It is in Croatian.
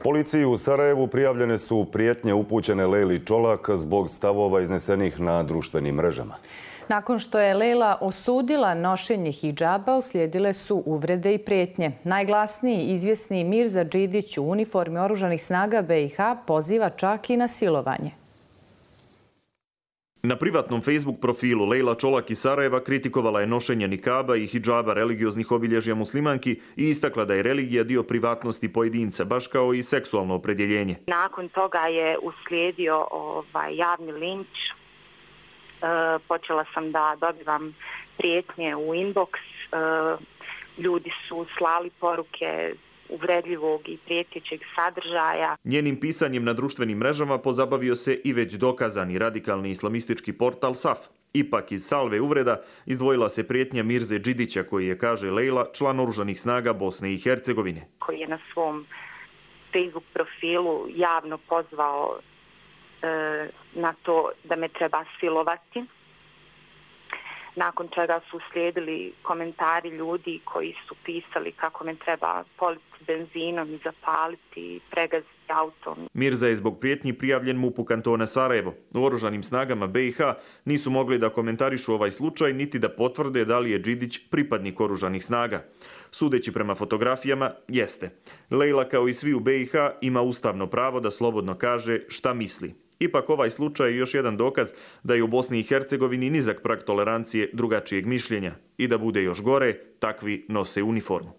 Policiji u Sarajevu prijavljene su prijetnje upućene Lejli Čolak zbog stavova iznesenih na društvenim mrežama. Nakon što je Lejla osudila nošenje hidžaba, uslijedile su uvrede i prijetnje. Najglasniji izvjesni Mirza Đidić u uniformi oružanih snaga BiH poziva čak i na silovanje. Na privatnom Facebook profilu Lejla Čolak iz Sarajeva kritikovala je nošenje nikaba i hidžaba religioznih obilježja muslimanki i istakla da je religija dio privatnosti pojedinca, baš kao i seksualno opredjeljenje. Nakon toga je uslijedio javni linč. Počela sam da dobivam prijetnje u inbox. Ljudi su slali poruke uvredljivog i prijetećeg sadržaja. Njenim pisanjem na društvenim mrežama pozabavio se i već dokazani radikalni islamistički portal SAF. Ipak iz salve uvreda izdvojila se prijetnja Mirze Đidića koji je, kaže Lejla, član oružanih snaga Bosne i Hercegovine. Koji je na svom Facebook profilu javno pozvao na to da me treba silovati. Nakon čega su slijedili komentari ljudi koji su pisali kako me treba politi benzinom i zapaliti i pregaziti autom. Mirza je zbog prijetnji prijavljen MUP-u kantona Sarajevo. U oružanim snagama BiH nisu mogli da komentarišu ovaj slučaj niti da potvrde da li je Đidić pripadnik oružanih snaga. Sudeći prema fotografijama, jeste. Lejla kao i svi u BiH ima ustavno pravo da slobodno kaže šta misli. Ipak ovaj slučaj je još jedan dokaz da je u Bosni i Hercegovini nizak prag tolerancije drugačijeg mišljenja i da bude još gore, takvi nose uniformu.